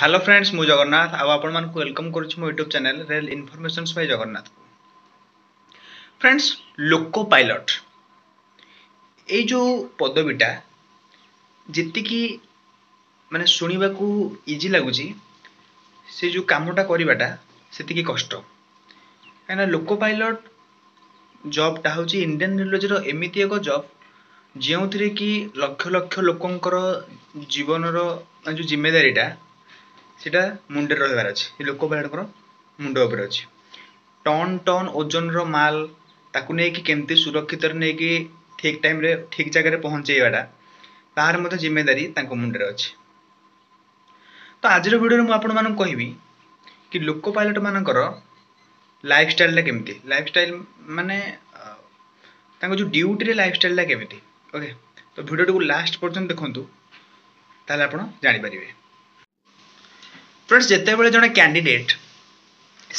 Hello friends, ମୁଁ ଜଗନ୍ନାଥ ଆଉ ଆପଣମାନଙ୍କୁ welcome କରୁଛି ମୋ YouTube channel rail informations by Jagannath. Friends, loco pilot ଏଇ ଯେଉଁ ପଦବୀଟା ଯେତିକି ମାନେ ଶୁଣିବାକୁ ଇଜି ଲାଗୁଛି, ସେ ଯେଉଁ କାମଟା କରିବାଟା ସେତିକି କଷ୍ଟ। କାହିଁକିନା ଲୋକୋ ପାଇଲଟ୍ ଜବ୍ଟା ହେଉଛି ଇଣ୍ଡିଆନ୍ ରେଲୱେଜର ଏମିତି ଏକ ଜବ୍ ଯେଉଁଥିରେ କି ଲକ୍ଷ ଲକ୍ଷ ଲୋକଙ୍କର ଜୀବନର ମାନେ ଯେଉଁ ଜିମ୍ମେଦାରୀଟା ସେଇଟା ମୁଣ୍ଡରେ ରହିବାର ଅଛି, ଏ ଲୋକୋ ପାଇଲଟ୍ଙ୍କର ମୁଣ୍ଡ ଉପରେ ଅଛି। ଟନ୍ ଟନ୍ ଓଜନର ମାଲ ତାକୁ ନେଇକି କେମିତି ସୁରକ୍ଷିତରେ ନେଇକି ଠିକ୍ ଟାଇମ୍ରେ ଠିକ୍ ଜାଗାରେ ପହଞ୍ଚେଇବାଟା, ତାହାର ମଧ୍ୟ ଜିମ୍ମେଦାରୀ ତାଙ୍କ ମୁଣ୍ଡରେ ଅଛି। ତ ଆଜିର ଭିଡ଼ିଓରେ ମୁଁ ଆପଣମାନଙ୍କୁ କହିବି କି ଲୋକୋ ପାଇଲଟ୍ମାନଙ୍କର ଲାଇଫଷ୍ଟାଇଲଟା କେମିତି, ଲାଇଫଷ୍ଟାଇଲ ମାନେ ତାଙ୍କ ଯେଉଁ ଡ୍ୟୁଟିରେ ଲାଇଫଷ୍ଟାଇଲଟା କେମିତି। ଓକେ, ତ ଭିଡ଼ିଓଟିକୁ ଲାଷ୍ଟ ପର୍ଯ୍ୟନ୍ତ ଦେଖନ୍ତୁ, ତାହେଲେ ଆପଣ ଜାଣିପାରିବେ। ଫ୍ରେଣ୍ଡସ୍, ଯେତେବେଳେ ଜଣେ କ୍ୟାଣ୍ଡିଡେଟ୍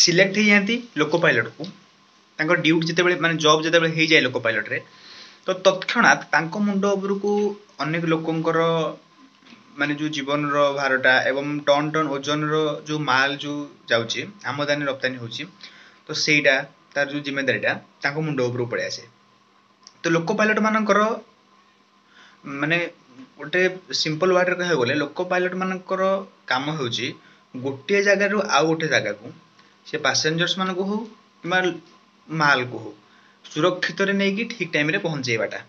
ସିଲେକ୍ଟ ହେଇଯାଆନ୍ତି ଲୋକୋ ପାଇଲଟ୍କୁ, ତାଙ୍କ ଡ୍ୟୁଟି ଯେତେବେଳେ ମାନେ ଜବ୍ ଯେତେବେଳେ ହେଇଯାଏ ଲୋକୋ ପାଇଲଟ୍ରେ, ତ ତତ୍କ୍ଷଣାତ୍ ତାଙ୍କ ମୁଣ୍ଡ ଉପରକୁ ଅନେକ ଲୋକଙ୍କର ମାନେ ଯେଉଁ ଜୀବନର ଭାରଟା ଏବଂ ଟନ୍ ଟନ୍ ଓଜନର ଯେଉଁ ମାଲ ଯେଉଁ ଯାଉଛି, ଆମଦାନୀ ରପ୍ତାନୀ ହେଉଛି, ତ ସେଇଟା ତାର ଯେଉଁ ଜିମ୍ମେଦାରୀଟା ତାଙ୍କ ମୁଣ୍ଡ ଉପରକୁ ପଳେଇ ଆସେ। ତ ଲୋକୋ ପାଇଲଟ୍ମାନଙ୍କର ମାନେ ଗୋଟେ ସିମ୍ପଲ୍ ୱାର୍ଡ଼ରେ କହିବାକୁ ଗଲେ ଲୋକୋ ପାଇଲଟ୍ମାନଙ୍କର କାମ ହେଉଛି ଗୋଟିଏ ଜାଗାରୁ ଆଉ ଗୋଟେ ଜାଗାକୁ ସେ ପାସେଞ୍ଜର୍ସମାନଙ୍କୁ ହଉ କିମ୍ବା ମାଲକୁ ହଉ ସୁରକ୍ଷିତରେ ନେଇକି ଠିକ୍ ଟାଇମ୍ରେ ପହଞ୍ଚେଇବାଟା,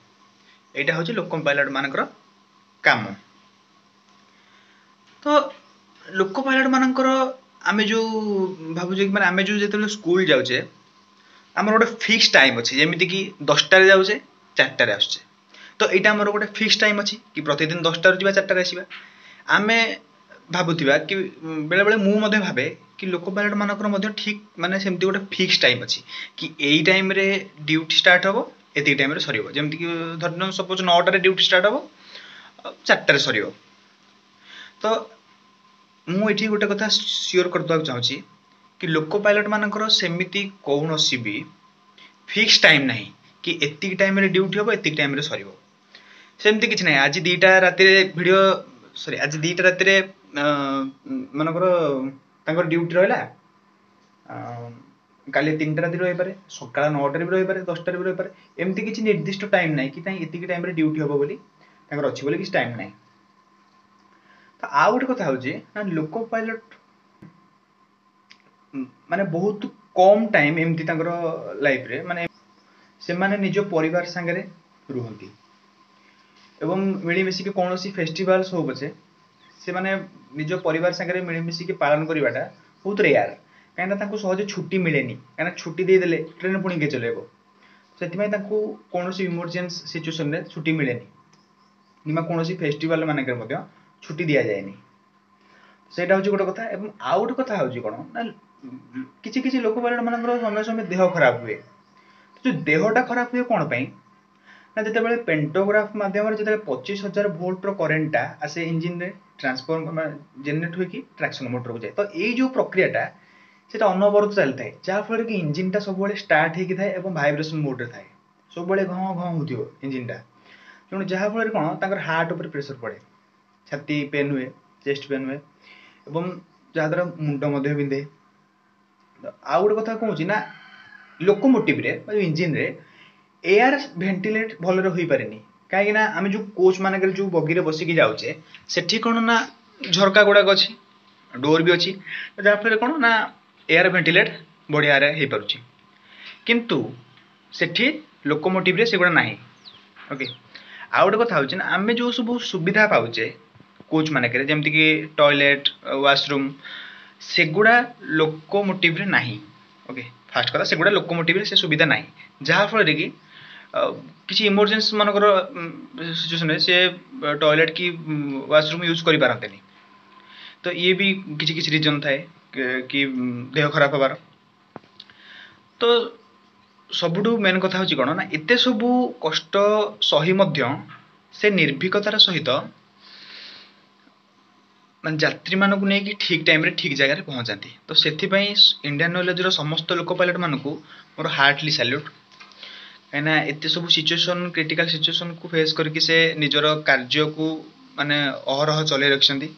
ଏଇଟା ହେଉଛି ଲୋକୋ ପାଇଲଟ୍ମାନଙ୍କର କାମ। ତ ଲୋକୋ ପାଇଲଟ୍ମାନଙ୍କର ଆମେ ଯେଉଁ ଭାବୁଛେ କି ମାନେ ଆମେ ଯେଉଁ ଯେତେବେଳେ ସ୍କୁଲ ଯାଉଛେ ଆମର ଗୋଟେ ଫିକ୍ସ ଟାଇମ୍ ଅଛି, ଯେମିତିକି 10ଟାରେ ଯାଉଛେ 4ଟାରେ ଆସୁଛେ, ତ ଏଇଟା ଆମର ଗୋଟେ ଫିକ୍ସ ଟାଇମ୍ ଅଛି କି ପ୍ରତିଦିନ 10ଟାରୁ ଯିବା 4ଟାରେ ଆସିବା। ଆମେ ଭାବୁଥିବା କି ବେଳେବେଳେ ମୁଁ ମଧ୍ୟ ଭାବେ କି ଲୋକୋ ପାଇଲଟ୍ମାନଙ୍କର ମଧ୍ୟ ଠିକ୍ ମାନେ ସେମିତି ଗୋଟେ ଫିକ୍ସ ଟାଇମ୍ ଅଛି କି ଏଇ ଟାଇମ୍ରେ ଡ୍ୟୁଟି ଷ୍ଟାର୍ଟ ହେବ, ଏତିକି ଟାଇମ୍ରେ ସରିବ। ଯେମିତିକି ଧରି ନିଅନ୍ତୁ ସପୋଜ୍ 9ଟାରେ ଡ୍ୟୁଟି ଷ୍ଟାର୍ଟ ହେବ, 4ଟାରେ ସରିବ। ତ ମୁଁ ଏଠି ଗୋଟେ କଥା ସିଓର କରିଦେବାକୁ ଚାହୁଁଛି କି ଲୋକୋ ପାଇଲଟ୍ମାନଙ୍କର ସେମିତି କୌଣସି ବି ଫିକ୍ସ ଟାଇମ୍ ନାହିଁ କି ଏତିକି ଟାଇମ୍ରେ ଡ୍ୟୁଟି ହେବ, ଏତିକି ଟାଇମ୍ରେ ସରିବ, ସେମିତି କିଛି ନାହିଁ। ଆଜି 2ଟା ରାତିରେ ଭିଡ଼ିଓ ସରି ଆଜି 2ଟା ରାତିରେ ମନେକର ତାଙ୍କର ଡ୍ୟୁଟି ରହିଲା, କାଲି 3ଟା ରାତିରେ ରହିପାରେ, ସକାଳ 9ଟାରେ ବି ରହିପାରେ, 10ଟାରେ ବି ରହିପାରେ। ଏମିତି କିଛି ନିର୍ଦ୍ଦିଷ୍ଟ ଟାଇମ୍ ନାହିଁ କି ନାଇଁ ଏତିକି ଟାଇମ୍ରେ ଡ୍ୟୁଟି ହେବ ବୋଲି ତାଙ୍କର ଅଛି ବୋଲି କିଛି ଟାଇମ୍ ନାହିଁ। ତ ଆଉ ଗୋଟେ କଥା ହେଉଛି ନା ଲୋକୋ ପାଇଲଟ୍ ମାନେ ବହୁତ କମ୍ ଟାଇମ୍ ଏମିତି ତାଙ୍କର ଲାଇଫ୍ରେ ମାନେ ସେମାନେ ନିଜ ପରିବାର ସାଙ୍ଗରେ ରୁହନ୍ତି ଏବଂ ମିଳିମିଶିକି କୌଣସି ଫେଷ୍ଟିଭାଲ୍ସ ହଉ ପଛେ ସେମାନେ ନିଜ ପରିବାର ସାଙ୍ଗରେ ମିଳିମିଶିକି ପାଳନ କରିବାଟା ବହୁତ ରେୟାର। କାହିଁକିନା ତାଙ୍କୁ ସହଜେ ଛୁଟି ମିଳେନି, କାହିଁକିନା ଛୁଟି ଦେଇଦେଲେ ଟ୍ରେନ୍ ପୁଣି କିଏ ଚଲେଇବ, ସେଥିପାଇଁ ତାଙ୍କୁ କୌଣସି ଇମର୍ଜେନ୍ସି ସିଚୁଏସନ୍ରେ ଛୁଟି ମିଳେନି କିମ୍ବା କୌଣସି ଫେଷ୍ଟିଭାଲ୍ ମାନଙ୍କରେ ମଧ୍ୟ ଛୁଟି ଦିଆଯାଏନି। ସେଇଟା ହେଉଛି ଗୋଟେ କଥା। ଏବଂ ଆଉ ଗୋଟେ କଥା ହେଉଛି କ'ଣ ନା କିଛି କିଛି ଲୋକୋ ପାଇଲଟ୍ମାନଙ୍କର ସମୟ ସମୟ ଦେହ ଖରାପ ହୁଏ। ଯେଉଁ ଦେହଟା ଖରାପ ହୁଏ କ'ଣ ପାଇଁ ନା ଯେତେବେଳେ ପେଣ୍ଟୋଗ୍ରାଫ ମାଧ୍ୟମରେ ଯେତେବେଳେ 25,000 ଭୋଲ୍ଟର କରେଣ୍ଟଟା ଆସେ ଇଞ୍ଜିନରେ ଟ୍ରାନ୍ସଫର୍ମ ଜେନେରେଟ୍ ହୋଇକି ଟ୍ରାକ୍ସନ୍ ମୋଟରକୁ ଯାଏ, ତ ଏଇ ଯେଉଁ ପ୍ରକ୍ରିୟାଟା ସେଇଟା ଅନବରତ ଚାଲିଥାଏ, ଯାହାଫଳରେ କି ଇଞ୍ଜିନଟା ସବୁବେଳେ ଷ୍ଟାର୍ଟ ହେଇକି ଥାଏ ଏବଂ ଭାଇବ୍ରେସନ୍ ମୋଡ଼ରେ ଥାଏ, ସବୁବେଳେ ଘଁ ଘଁ ହେଉଥିବ ଇଞ୍ଜିନଟା। ତେଣୁ ଯାହାଫଳରେ କ'ଣ ତାଙ୍କର ହାର୍ଟ ଉପରେ ପ୍ରେସର ପଡ଼େ, ଛାତି ପେନ୍ ହୁଏ, ଚେଷ୍ଟ ପେନ୍ ହୁଏ ଏବଂ ଯାହାଦ୍ୱାରା ମୁଣ୍ଡ ମଧ୍ୟ ବିନ୍ଧେ। ଆଉ ଗୋଟେ କଥା କହୁଛି ନା ଲୋକୋମୋଟିଭରେ ବା ଇଞ୍ଜିନରେ ଏୟାର ଭେଣ୍ଟିଲେଟ୍ ଭଲରେ ହୋଇପାରେନି, କାହିଁକିନା ଆମେ ଯେଉଁ କୋଚ୍ ମାନଙ୍କରେ ଯେଉଁ ବଗିରେ ବସିକି ଯାଉଛେ ସେଠି କ'ଣ ନା ଝରକା ଗୁଡ଼ାକ ଅଛି, ଡୋର୍ ବି ଅଛି, ଯାହାଫଳରେ କ'ଣ ନା ଏୟାର ଭେଣ୍ଟିଲେଟ୍ ବଢ଼ିଆରେ ହେଇପାରୁଛି, କିନ୍ତୁ ସେଠି ଲୋକୋମୋଟିଭରେ ସେଗୁଡ଼ା ନାହିଁ। ଓକେ, ଆଉ ଗୋଟେ କଥା ହେଉଛି ନା ଆମେ ଯେଉଁ ସବୁ ସୁବିଧା ପାଉଛେ କୋଚ୍ ମାନଙ୍କରେ, ଯେମିତିକି ଟଏଲେଟ୍, ୱାସରୁମ୍, ସେଗୁଡ଼ା ଲୋକୋମୋଟିଭରେ ନାହିଁ। ଓକେ, ଫାଷ୍ଟ କଥା ସେଗୁଡ଼ା ଲୋକୋମୋଟିଭରେ ସେ ସୁବିଧା ନାହିଁ, ଯାହାଫଳରେ କି କିଛି ଇମର୍ଜେନ୍ସି ମାନଙ୍କର ସିଚୁଏସନ୍ରେ ସେ ଟଏଲେଟ୍ କି ୱାସରୁମ୍ ୟୁଜ୍ କରିପାରନ୍ତିନି। ତ ଇଏ ବି କିଛି କିଛି ରିଜନ୍ ଥାଏ କି ଦେହ ଖରାପ ହେବାର। ତ ସବୁଠୁ ମେନ୍ କଥା ହେଉଛି କ'ଣ ନା ଏତେ ସବୁ କଷ୍ଟ ସହି ମଧ୍ୟ ସେ ନିର୍ଭୀକତାର ସହିତ ମାନେ ଯାତ୍ରୀମାନଙ୍କୁ ନେଇକି ଠିକ୍ ଟାଇମ୍ରେ ଠିକ୍ ଜାଗାରେ ପହଞ୍ଚାନ୍ତି। ତ ସେଥିପାଇଁ ଇଣ୍ଡିଆନ୍ ରେଲୱେଜର ସମସ୍ତ ଲୋକୋ ପାଇଲଟ୍ମାନଙ୍କୁ ମୋର ହାର୍ଟଲି ସାଲ୍ୟୁଟ୍, କାହିଁକିନା ଏତେ ସବୁ ସିଚୁଏସନ୍ କ୍ରିଟିକାଲ୍ ସିଚୁଏସନ୍କୁ ଫେସ୍ କରିକି ସେ ନିଜର କାର୍ଯ୍ୟକୁ ମାନେ ଅହରହ ଚଲେଇ ରଖିଛନ୍ତି।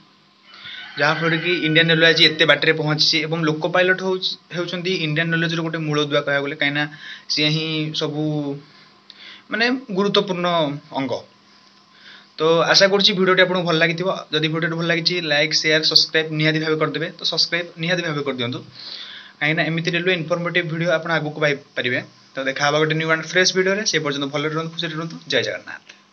ଯାହାଫଳରେ କି ଇଣ୍ଡିଆନ୍ ରେଲୱେ ଆଜି ଏତେ ବାଟରେ ପହଞ୍ଚିଛି। ଏବଂ ଲୋକୋ ପାଇଲଟ୍ ହେଉଛନ୍ତି ଇଣ୍ଡିଆନ୍ ରେଲୱେଜର ଗୋଟେ ମୂଳଦୁଆ କହିବାକୁ ଗଲେ, କାହିଁକିନା ସିଏ ହିଁ ସବୁ ମାନେ ଗୁରୁତ୍ୱପୂର୍ଣ୍ଣ ଅଙ୍ଗ। ତ ଆଶା କରୁଛି ଭିଡ଼ିଓଟି ଆପଣଙ୍କୁ ଭଲ ଲାଗିଥିବ। ଯଦି ଭିଡ଼ିଓଟି ଭଲ ଲାଗିଛି, ଲାଇକ୍, ସେୟାର, ସବସ୍କ୍ରାଇବ୍ ନିହାତି ଭାବେ କରିଦେବେ। ତ ସବସ୍କ୍ରାଇବ୍ ନିହାତି ଭାବେ କରିଦିଅନ୍ତୁ, କାହିଁକିନା ଏମିତି ରେଲୱେ ଇନଫର୍ମେଟିଭ୍ ଭିଡ଼ିଓ ଆପଣ ଆଗକୁ ପାଇପାରିବେ। ତ ଦେଖା ହେବା ଗୋଟେ ନ୍ୟୁ ଆଣ୍ଡ ଫ୍ରେଶ୍ ଭିଡ଼ିଓରେ। ସେ ପର୍ଯ୍ୟନ୍ତ ଭଲରେ ରୁହନ୍ତୁ, ଖୁସିରେ ରୁହନ୍ତୁ। ଜୟ ଜଗନ୍ନାଥ।